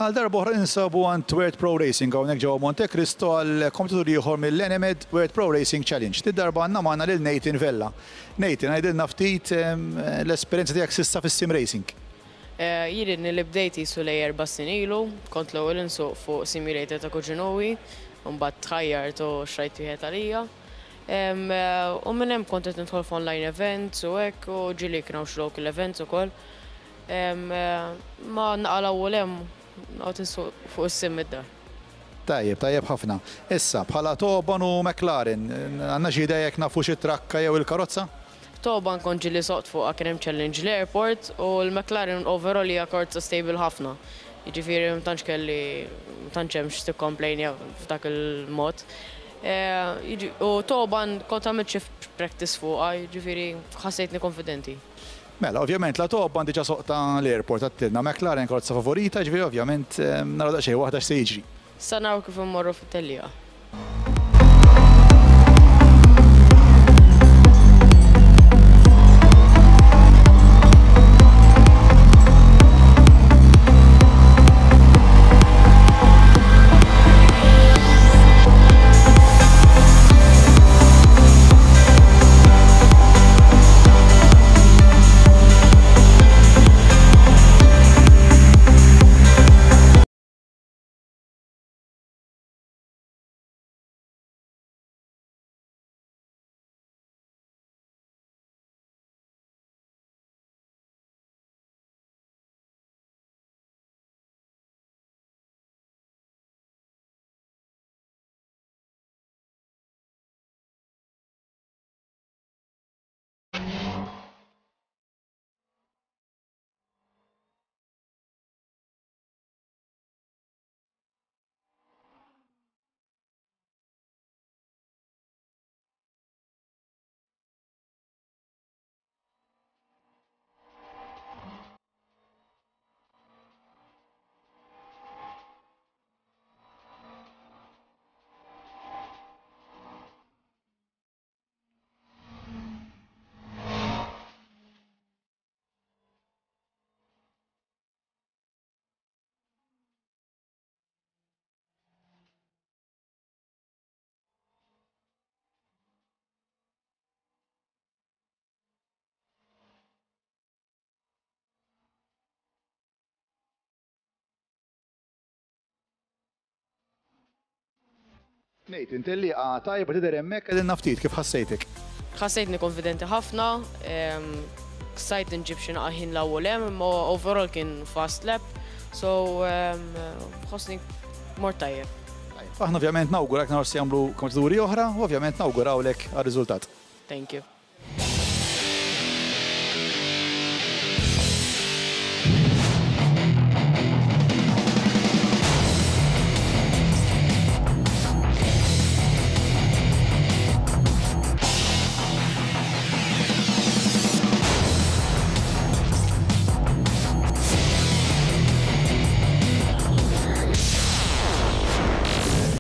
Għal darb'oħra ninsabu għand World Pro Racing hawnhekk ġewwa Monte Cristo għal kompetitur ieħor mill-Enemed World Pro Racing Challenge. Did-darba għandna magħna lil Nathan Vella. Nathan, għidilna ftit l-esperjenza tiegħek s'issa fis-sim racing. Jien ilni li bdejt qisu lejn erba' snin ilu, kont l-ewwel insuq fuq simulator ta' kuġinuwi, u mbagħad tħajjart u xtrajt wieħed għalija. U minn hemm kont qed nidħol f'online events u hekk u ġieli kien hawn xi local events ukoll. Ma naqalgħu u 'l hemm noqgħod insuq fuq is-sim mid-dar. Tajjeb, tajjeb ħafna. Issa, bħala Toban u McLaren, għandna xi idea jekk nafux it-trakka jew il-karozza? Toban kont ġieli soqt fuqha kien hemm challenge l-airport u l-McLaren overall hija karozza stable ħafna. Jiġifieri ma tantx kelli, ma tantx hemm x'tikkomplejnja f'dak il-mod. U Toban kont għamilt xi practice fuqha, jiġifieri ħassejtni konfidenti. Mela, ovvjament la Toban diġa soqtha l-airport għattilna McLaren karozza favorita, ġifieri ovvjament naraw daqsxejn waħda x'se jiġri. Sa naraw kif immorru fit-tellieqa. Nathan, tellieqa tajba tidher hemmhekk, għidilna ftit kif ħassejtek. Ħassejtni konfidenti ħafna, stajt nġib xi naqa' ħin 'l hawn u 'l hemm, imma overall kien fast lap, so ħossni mort tajjeb. Tajjeb, aħna ovvjament nawgurak naraw x'se jagħmlu kompetituri oħra u ovvjament nawgurawlek għar-riżultat. Thank you.